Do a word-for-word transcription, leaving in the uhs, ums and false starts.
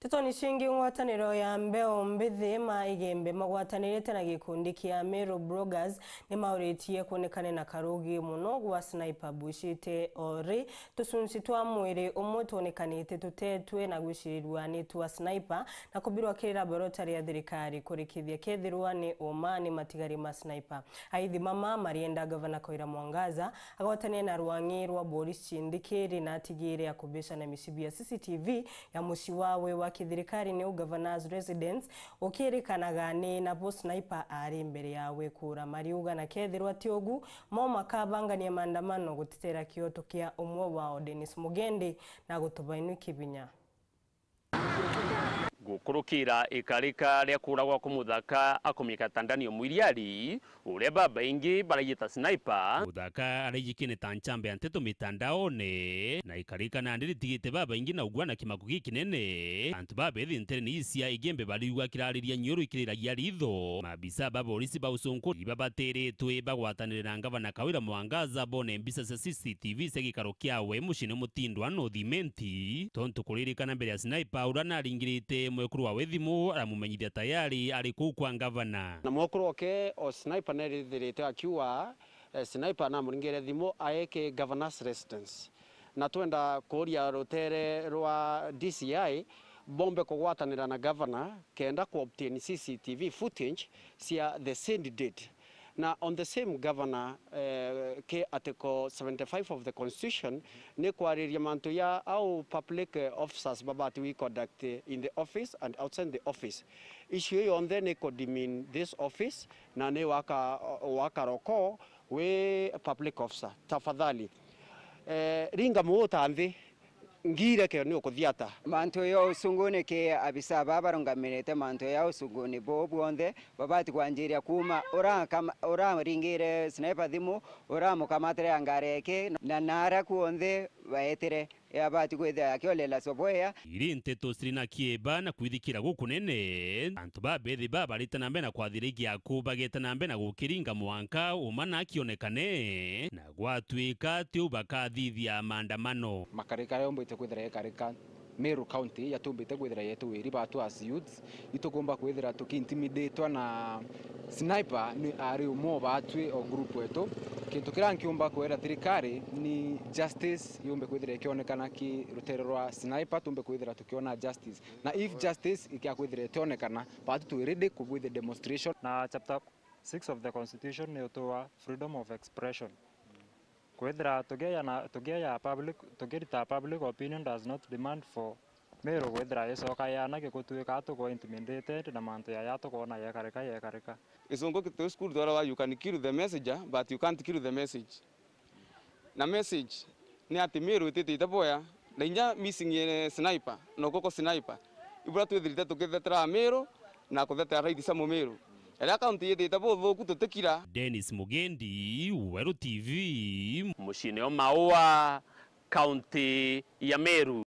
Ntetoni cingi, ngwataniro ya mbeu mbithi ma Igembe magwatanirite na gikundi kia Meru Bloggers ni mauritie kuonekane na karugi muno gwa Sniper Bushite ori tucunci twa mwiri umwe twonekanite tutetwe na gwicirirua ni twa Sniper na kubirwa kirira borota ria thirikari kurikithia kethirwa ni uma ni matigari ma Sniper. Aithi mama marienda Gavana Kawira Mwangaza agwatanie na rwang'i rwa borisi cindikiri na atigire ya kubicana micibi ya C C T V ya mucii wawe wa kithirikari niu Governor's Residence, ukirikanaga ni nabo Sniper ari mbere yawe kura mariuga, na kethirwa ti ugu, mo makabangania maandamano gutetera kioto kia umwe wao Dennis Mugendi na gutubainwi kibinya. Gukurukira ikarika ria kuragwa kwa muthaka akumikata Daniel Mwiriari, uria babaingi baraijita Sniper. Muthaka araijikine ta nchambe ya nteto mitandaone, na ikarika nandi ritigite babaingi na ugwa na kimako gikinene. Antu babethi ntereni cia Igembe bariugwa kirariria nyiuru ikiriragia ritho. Maabisa ba borisi ba ucunku ibabateretwe bagwatanire na Ngavana Kawira Mwangaza bone mbica cia C C T V cia gikaro kiawe muciine mutindwa North Imenti, tontu kuririkana mbere ya Sniper uria naringirite mwekuru wawe thimu aramumenyithia tayari ari kuu kwa ngavana. Na mwekuru oke o Sniper nerithirite akiuga, eh, Sniper namuringire thimu aeke Governor's Residence. Na twenda kuuria rutere rwa D C I bombe kugwatanira na governor kenda ku obtain C C T V footage cia the said date. Na on the same governor, eh, ki article seventy-five of the constitution ni kwariria mantu ya how public, eh, officers babati we conduct in the office and outside the office. Issue iyo yonthe ni ku demean this office na ni waka, waka roko wi public officer. Tafadhali, eh, ringa muuta nthi. Ngire kio ni ukuthiata. Mantu ya ucunguni ki abisa baa barungamirite mantu ya ucunguni buu bwonthe babati kwanjiria kuuma urakama-, uraringire Sniper thimu, uramukamatire ya ngari eke, na naria kuonthe baetire yabati kwithira yakiolela sobwea. Iri nteto ciri na kieba na kwithikira gukunene. Antu babethi babarite na mbere na kwathira igiaku bageta na mbere na gukiringa mwanka uma na akionekane, na gwatuika tiu bakathithia maandamano. Makarika aria yumbite kwithira ikarika Meru County yatumbite kwithira yetu wiri batu as youths, itukumba kwithira tukiintimidatwa na Sniper ni ari umwe o batwi o group wetu. Kintu kiria nkiumba kwira thirikari ni justice yumbe kwithira ikionekana ki rutere rwa Sniper, tumbe kwithira tukiona justice. Na if justice ikia kwithira itionekana, batu twi ready kubwithia demonstration. Na chapter six of the constitution ni utuwa freedom of expression. Kwithira tugiaya na, tugiaya public, tugirita public opinion does not demand for Meru kwithira icoka yana gigutuika tuko intimidated na mantu yaya tukoona yekarika yekarika. Gicungu ki-, twi cukuru twaragwa, you can kill the messenger but you can't kill the message. Na message ni ati Meru ititite bwea, na inya missing, eh, Sniper, na ukuko Sniper. Ibura twithirite tukithetera Meru na kuthetera rights cia Mumiru. Riria county yithite buthuku tutikira. Dennis Mugendi, Weru T V, muciine o Maua, county ya Meru.